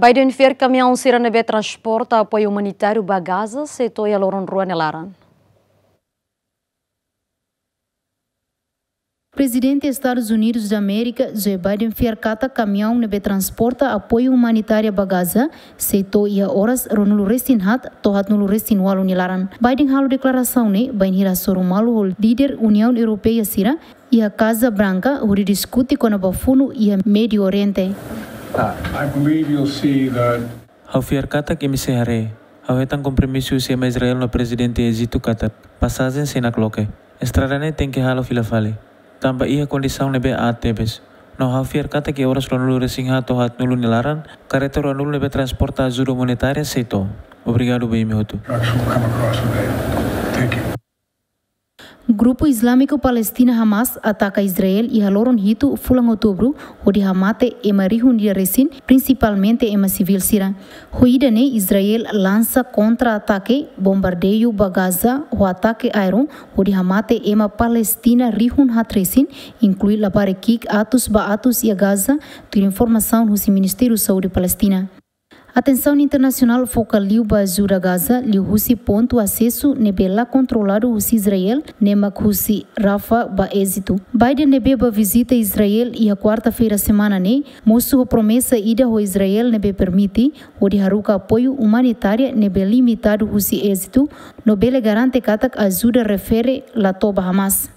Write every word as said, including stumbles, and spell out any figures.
Biden fiar kamiaun sira ne'ebé transporta apoiu umanitáriu ba Gaza sei to'o iha loron rua nia laran. Prezidente Estadus Unidus da Amérika, Joe Biden, fiar katak kamiaun ne'ebé transporta apoiu umanitáriu ba Gaza sei to'o iha oras ruanulu-resin-haat to'o haatnulu-resin-ualu nia laran. Biden halo deklarasaun ne'e bainhira hasoru malu ho líder Uniaun Europeia sira iha Kaza Branka hodi diskute kona-ba funu iha Médiu Oriente. I believe you'll see that. Ha'u fiar katak imi sei haree, ha'u hetan kompromisu husi ema Israel no Prezidente Ejitu katak pasajen sei nakloke. Estrada ne'e tenke halo fila fali. Tanba iha kondisaun ne'ebé aat tebes. No ha'u fiar katak iha oras ruanulu-resin-haat to'o haatnulu nia laran, karreta ruanulu ne'ebé transporta ajuda umanitária sei to'o. Obrigadu ba imi hotu. Trucks will come across today. Thank you. Grupu Izlámiku Palestina Hamas ataka Israel iha loron hitu fulan Outubru, hodi hamate ema rihun ida resin, prinsipalmente ema sivíl sira. Ho ida-ne'e Israel lansa kontra-atake, bombardeiu ba Gaza ho atake aéreu, hodi hamate ema Palestina rihun haat resin, inklui labarik ki'ik atus ba atus iha Gaza, tuir informasaun husi Ministériu Saúde Palestina. Atensaun internasionál foka liu ba ajuda Gaza, liuhusi pontu asesu ne'ebé la kontroladu husi Israel, ne'e mak husi Rafah ba Ejitu. Biden ne'ebé bá vizita Israel iha kuarta-feira semana ne'e, mosu ho promesa ida ho Israel ne'ebé permite hodi haruka apoiu umanitária ne'ebé limitadu husi Ejitu, no bele garante katak ajuda refere la to'o ba Hamas.